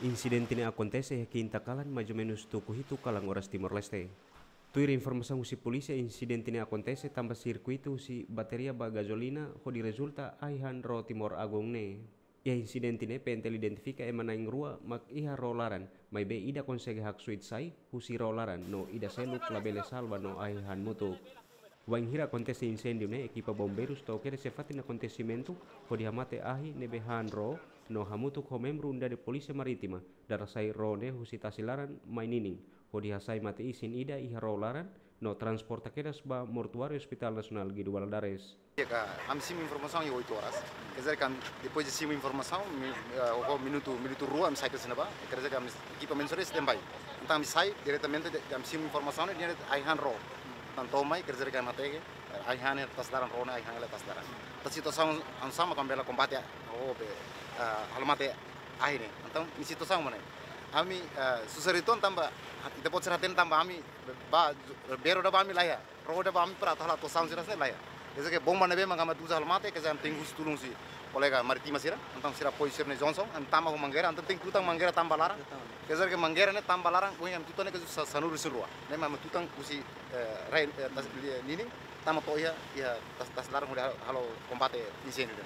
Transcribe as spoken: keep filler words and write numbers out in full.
Insidente ne'e akontese iha kinta kalan, mais ou menus tuku hitu kalan oras Timor-Leste. Tuir informasaun husi polísia, insidente ne'e akontese tanba sirkuitu husi bateria ba gazolina hodi rezulta ai-han ró Timor Agung ne'e. Iha insidente ne'e P N T L identifika ema na'in rua mak iha ró laran, maibé ida konsege haksoit sai husi ró laran no ida seluk labele salva no ai-han mutuk. Wainhira akontese inséndiu ne'e, ekipa bombeirus to'o kedas iha fatin akontesimentu hodi hamate ahi ne'ebé han ró no hamutuk ho membru Unidade Polísia Marítima dara sai ró ne'e husi tasi laran mai ninin, hodi hasai mate-isin ida iha ró laran no transporta kedas ba mortuáriu Hospital Nasionál Guido Valadares. Ka, ami simu informasaun iha oito horas. Quer dizer que ami, depois de simu informasaun, mi-, eh, ho minutu, minutu rua, ami sai ke sina ba. Quer dizer que ami ekipa mensura standby. Entaun ami sai diretamente de, de ami simu informasaun, de ai-han ró. Entaun to'o mai, quer dizer que ami hateke, eh, ai-han ne'e tasi laran, ró ne'e ai-han hela tasi laran. Entaun situasaun hanesan mak ami bele kombate, oh, be, eh, halo mate ahi ne'e. Entaun situasaun mak ne'e. Ami, eh, susar uitoan tanba, ita-boot sira hatene tanba ami, ba, bero ida ba ami laiha. Ró ida ba ami para atu halo atuasaun sira hanesan ne'e laiha. Quer dizer que bomba ne'ebé mak ami uza halo mate, quer dizer, ami tenke husu tulun husi kolega Marítima sira, entaun sira apoiu sira-nia Johnson, ami tama ho mangueira, entaun tenke tutan mangueira tama ba laran. Quer dizer que mangueira ne'e tama ba laran, ohin ami tutan ne'e ke sa-, sanulu-resin-rua. Ne'e mak ami tutan husi, eh, rai, eh, tasi, eh, ninin, tama to'o iha, iha tasi, tasi laran hodi halo, halo kombate inséndiu ne'e.